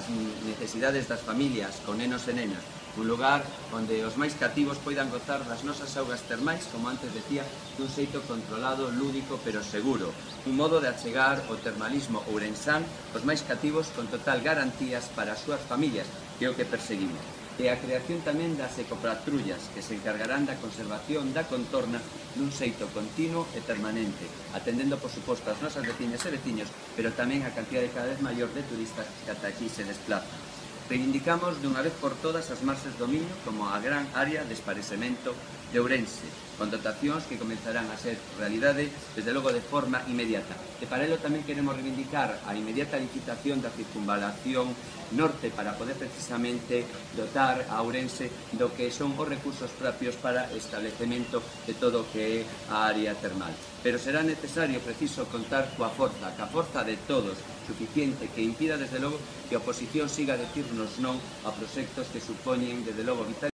as necesidades das familias con nenos e nenas, un lugar onde os máis cativos poidan gozar das nosas augas termais, como antes decía, dun xeito controlado, lúdico, pero seguro. Un modo de achegar o termalismo ourensán os máis cativos con total garantías para as súas familias, que é o que perseguimos. E a creación tamén das ecopatrullas, que se encargarán da conservación da contorna dun xeito continuo e permanente, atendendo, por suposto, as nosas veciñas e veciños, pero tamén a cantidade cada vez maior de turistas que ata aquí se desplazan. Reivindicamos dunha vez por todas as marxes do Miño como a gran área de esparecemento de Ourense, con dotacións que comenzarán a ser realidade, desde logo de forma inmediata. E para ello tamén queremos reivindicar a inmediata licitación da circunvalación norte para poder precisamente dotar a Ourense do que son os recursos propios para establecemento de todo o que é a área termal. Pero será necesario, preciso, contar coa forza de todos, suficiente, que impida, desde logo, que a oposición siga a decirnos non a proxectos que supoñen, desde logo, vital